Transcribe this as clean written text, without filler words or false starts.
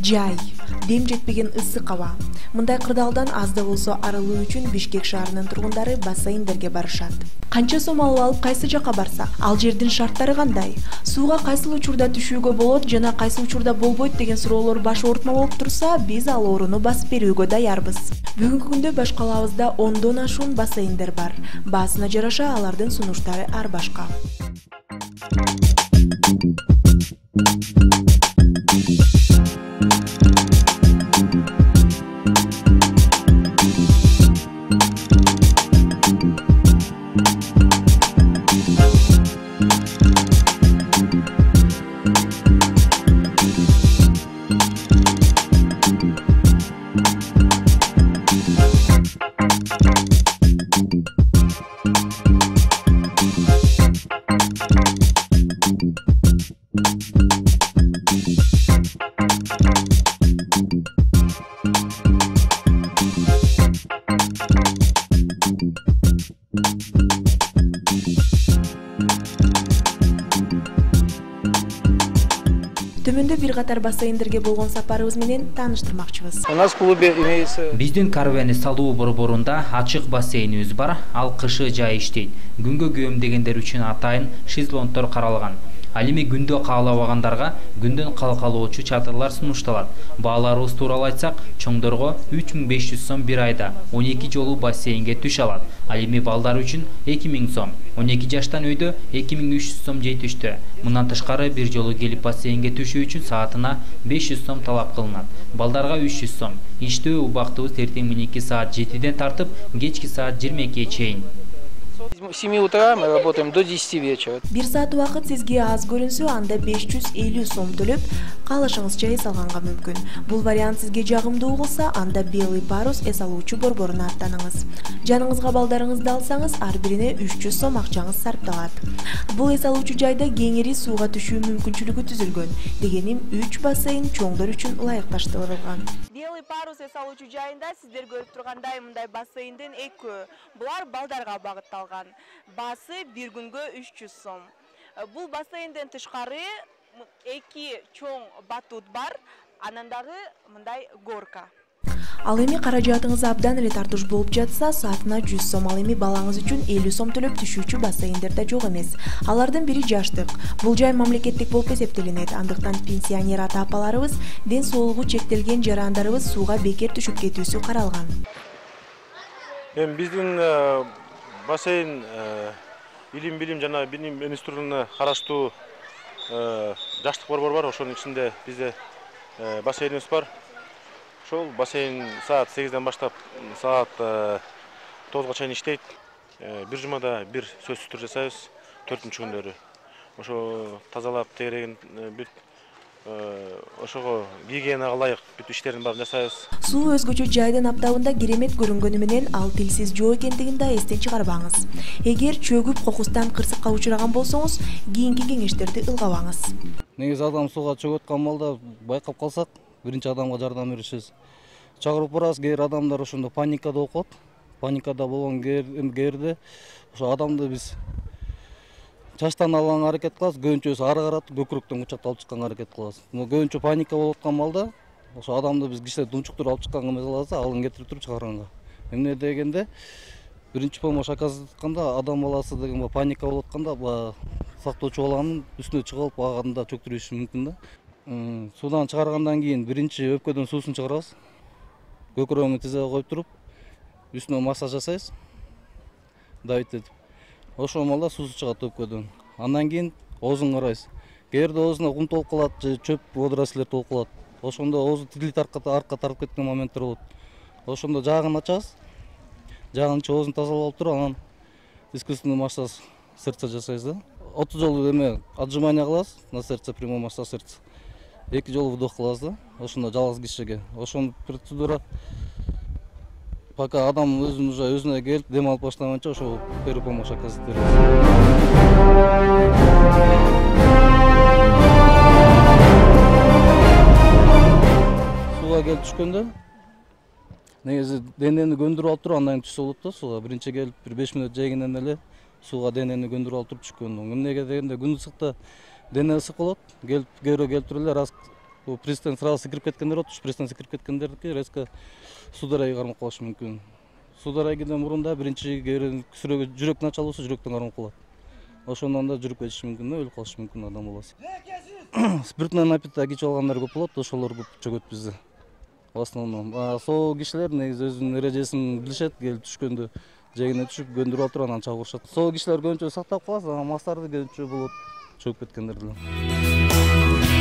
Жай, дем жетпеген ысык аба. Мындай кырдаалдан аз да болсо арылуу үчүн Бишкек шаарынын тургундары бассейндерге барышат. Канча сом алып кайсы жака барса, ал жердин шарттары кандай? Сууга кайсыл учурда түшүүгө болот жана кайсы учурда болбойт деген суроолор баш оорутма болуп турса, биз ал ооруну басып берүүгө даярбыз. Бүгүнкү күндө баш калаабызда 10дон ашуун бассейндер бар. Баасына жараша алардын сунуштары ар башка. Төмөндө бир катар бассейндерге болгон сапарыбыз менен тааныштырмакчыбыз. У нас в клубе имеется... Биздин Карвени салуу борборунда ачык бассейнибиз бар. Ал кышы жай иштейт. Күнгө көөмдөгөндөр үчүн атайын шезлонгдор каралган. Ал эми күндө каалабагандарга күндөн калкалоочу чатырлар сунушталат. Бааларыбыз тууралуу айтсак, чоңдорго 3500 сом бир айда 12 жолу бассейнге түш алат. Ал эми балдар үчүн 2000 сом. 12 жаштан өйдө 2300 сом жетиштүү. Мындан тышкары бир жолу келип бассейнге түшүү үчүн саатына 500 сом талап кылынат. Балдарга 300 сом. Иштөө убактыбыз эртең мененки саат 7ден тартып, кечки саат 22-ге чейин. С 7 утра мы работаем до 10 вечера. Бир саат убакыт сизге аз көрүнсө, анда 550 сом төлөп, каалашыңызча эс алганга мүмкүн. Бул вариант сизге жагымдуу кылса, анда Белый парус эс алуучу борборуна аттаныңыз. Жаныңызга балдарыңызды алсаңыз, ар бирине 300 сом акчаңыз сарпталат. Бул эс алуучу жайда кеңири сууга түшүү мүмкүнчүлүгү түзүлгөн. Дегеним 3 бассейн чоңдор үчүн ылайыкташтырылган. Белый парус эс алуучу жайында сиздер көрүп тургандай мындай бассейндин экөө. Булар балдарга багытталган. Баасы бир күнгө 300 сом. Бул бассейнден тышкары 2 чоң батут бар, анан дагы мындай горка. Ал эми каражатыңыз абдан эле тартыш болуп жатса, саатына 100 сом, ал эми балаңыз үчүн 50 сом төлөп түшүүчү бассейндер да жок эмес. Алардын бири жаштык. Бул жай мамлекеттик болуп эсептелинет. Андыктан пенсионер ата-апаларыбыз, ден соолугу чектелген жарандарыбыз сууга бекер түшүп кетүүсү каралган. Эми биздин бассейн илим жана билим институтуна караштуу жаштык борбор бар. Ошонун ичинде бизде бассейнибиз бар. Ошол бассейн саат 8ден баштап саат 9га чейин иштейт. Бир жумада бир сөзсүз тур жасайбыз 4-күндөрү. Ошо тазалап тегереген бүт ошого гигиенага ылайык бүт иштердин баарын жасайбыз. Суу өзгөчө жайдын аптабында керемет көрүнгөнү менен ал тилсиз жөө экендигин да эстен чыгарбаңыз. Эгер чөгүп кокустан кырсыкка учураган болсоңуз, кийинки кеңештерди ылгабаңыз. Негизи адам сууга чөгүп аткан балда байкап калсак, биринчи адамга жардам беришибиз. Чакырып барабыз, кээ бир адамдар ошондо паникада болуп калат. Паникада болгон кээрде ошо адамды биз чачтан алганга аракет кылабыз, көбүнчөсү ары каратып көкүрөктөн кучактап алып чыкканга аракет кылабыз. Көбүнчө паника болуп аткан балда ошо адамды биз кичине тунчуктуруп алып чыкканга эмес кылабыз, алын кетирип туруп чыгарганга. Эмне дегенде биринчи помощь оказатканда адам баласы деген паника болуп атканда сактоочу баланын үстүнө чыгып аганда чөктүрүшү мүмкүн да. Суудан чыгаргандан кийин биринчи өпкөдөн суусун чыгарабыз. Көкүрөгүн тизеге коюп туруп, үстүнө массаж жасайбыз. Давить. Ошол маалда суусу чыгат өпкөдөн. Андан кийин оозун карайбыз. Кээрде оозуна кум толуп калат же чөп водорослер толуп калат. Ошондо оозу тилит аркка тартып кеткен моменттер болот. Ошондо жаагын ачабыз. Жаагын ичип оозун тазалап алып туруп, анан искусственный массаж сердца жасайбыз да. 30 жолу эме отжимание кылабыз на сердце, прямой массаж сердца. 2 жолу вдох кылабыз да. Ошондо жалгыз кишиге. Ошол процедура пока адам өзүнө келип дем алып баштаганча ошо первый помощь оказывать беребиз. Сууга келип түшкөндө негизи денени көндүрүп алып туруп андан кийин түшсө болот да сууга. Биринчи келип бир 5 мүнөт жегенен эле сууга денени көндүрүп алып туруп түшкөн. Эмнеге дегенде күн ысыкта дене ысык болот. Келип келип туруп эле раз Пристен сразу секирип кеткендер болот. Пристен секирип кеткендердики резко сударайга кармап калышы мүмкүн. Сударайгыдан мурун да биринчи жүрөк началысы жүрөктөн кармап калат. Ошондон да жүрүп кетиши мүмкүн да, өлүп калышы мүмкүн адам баласы. Спиртный напитток ичип алгандар көп болот, ошолор көп чөгөт бизде. В основном соо кишилер негизи өзүнүн эрежесин билишет, келип түшкөндө жегине түшүп көндүрүп алып туруп анан чагырышат. Соо кишилер көбүнчө сактап калат, мастарды көбүнчө болот чөгүп кеткендер деле.